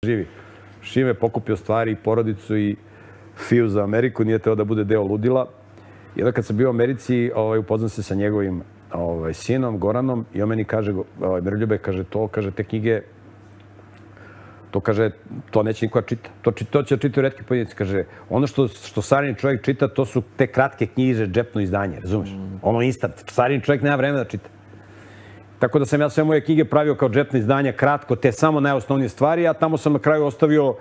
živi. Šime pokupio stvari, porodicu i Fiju za Ameriku, nije teo da bude deo ludila. I onda kad sam bio u Americi, upoznam se sa njegovim sinom, Goranom, i on meni kaže, Miroljube, kaže, te knjige, to neće niko čita. To će čitati retki pojedinci. Kaže, ono što savremeni čovjek čita, to su te kratke knjiže, džepno izdanje, razumeš? Ono instant. Savremeni čovjek nema vremena da čita. Tako da sam ja sve moje knjige pravio kao džepno izdanja, kratko, te samo najosnovnije stvari, a tamo sam na kraju ostavio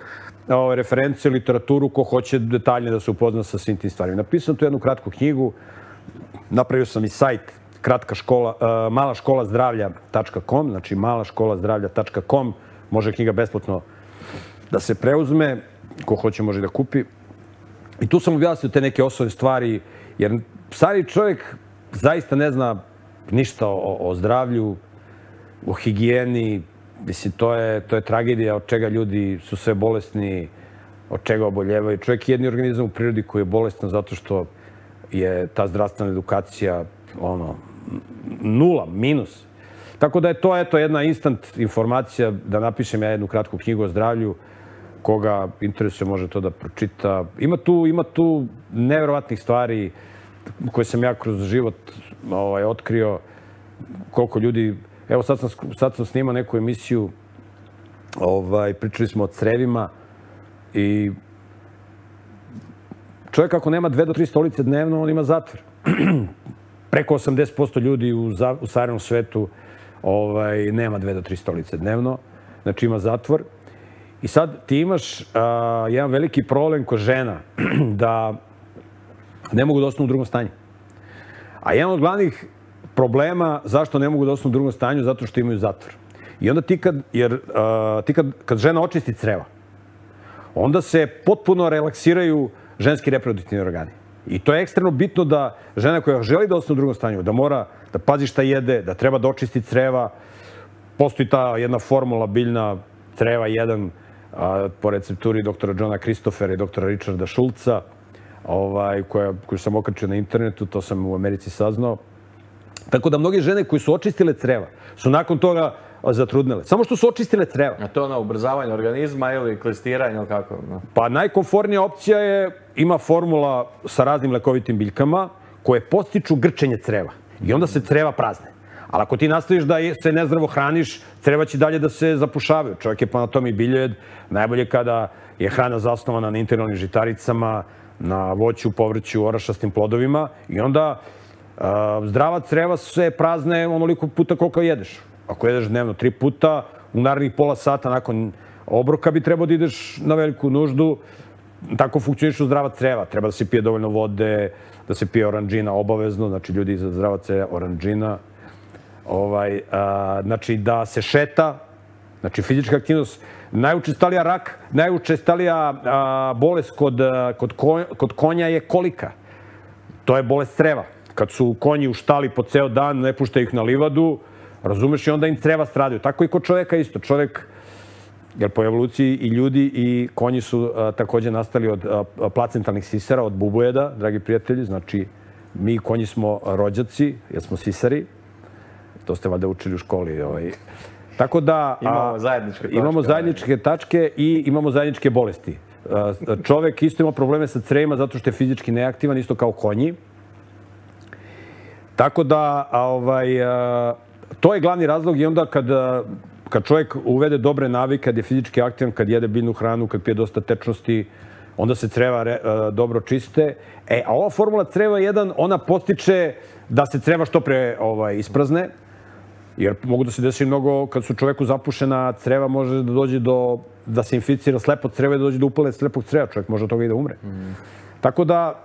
referencije, literaturu, ko hoće detaljnije da se upozna sa svim tim stvarima. Napisao sam tu jednu kratku knjigu, napravio sam i sajt malaškolazdravlja.com, znači malaškolazdravlja.com, može knjiga besplatno da se preuzme, ko hoće može da kupi. I tu sam objasnio te neke osnovne stvari, jer stari čovjek zaista ne zna ništa o zdravlju, o higijeni. Mislim, to je tragedija od čega ljudi su sve bolesni, od čega oboljevaju. Čovjek je jedni organizam u prirodi koji je bolestan zato što je ta zdravstvena edukacija nula, minus. Tako da je to jedna instant informacija da napišem ja jednu kratku knjigu o zdravlju. Koga interesuje može to da pročita. Ima tu neverovatnih stvari koje sam ja kroz život otkrio. Koliko ljudi... Evo sad sam snimao neku emisiju, pričali smo o crevima i čovjek ako nema 2 do 3 stolice dnevno, on ima zatvor. Preko 80% ljudi u savremenom svetu nema 2 do 3 stolice dnevno, znači ima zatvor. I sad ti imaš jedan veliki problem kod žena da ne mogu da ostanu u drugom stanju. A jedan od glavnih problema zašto ne mogu da ostanu u drugom stanju, zato što imaju zatvor. I onda kad žena očisti creva, onda se potpuno relaksiraju ženski reproduktivni organi. I to je ekstremno bitno da žena koja želi da ostane u drugom stanju, da mora da pazi šta jede, da treba da očisti creva. Postoji ta jedna formula biljna creva 1 po recepturi doktora Johna Christophera i doktora Richarda Schulza, koju sam okačio na internetu, to sam u Americi saznao. Tako da mnoge žene koje su očistile creva su nakon toga zatrudnele. Samo što su očistile creva. A to je ubrzavanje organizma ili klistiranje ili kako? Pa najkomfortnija opcija ima formula sa raznim lekovitim biljkama koje podstiču grčenje creva. I onda se creva prazne. Ali ako ti nastaviš da se nezdravo hraniš, creva će dalje da se zapušavaju. Čovjek je po anatomiji biljojed. Najbolje kada je hrana zasnovana na integralnim žitaricama, na voću, povrću, orašastim plodovima. I onda zdrava creva se prazne onoliko puta koliko jedeš. Ako jedeš dnevno 3 puta, u narednih pola sata nakon obroka bi trebao da ideš na veliku nuždu. Tako funkcionišu zdrava creva. Treba da se pije dovoljno vode, da se pije oranđina obavezno, znači ljudi za zdrava creva oranđina. Znači da se šeta, znači fizička aktivnost. Najučestalija rak, najučestalija bolest kod konja je kolika. To je bolest creva. Kad su konji u štali po ceo dan, ne puštaju ih na livadu, razumeš, i onda im creva stradaju. Tako i kod čovjeka isto. Čovjek, jer po evoluciji i ljudi i konji su također nastali od placentalnih sisara, od bubujeda, dragi prijatelji. Znači, mi konji smo rođaci, jer smo sisari. To ste valjda učili u školi. Tako da imamo zajedničke tačke i imamo zajedničke bolesti. Čovjek isto ima probleme sa crevima zato što je fizički neaktivan, isto kao konji. Tako da, to je glavni razlog i onda kad čovjek uvede dobre navike, kad je fizički aktivan, kad jede biljnu hranu, kad pije dosta tečnosti, onda se creva dobro čiste. A ova formula creva 1, ona postiče da se creva što pre isprazne, jer mogu da se desi mnogo, kad su čovjeku zapušena creva, može da dođe da se inficira slepo creva i da dođe do upale slepog creva. Čovjek može od toga i da umre. Tako da...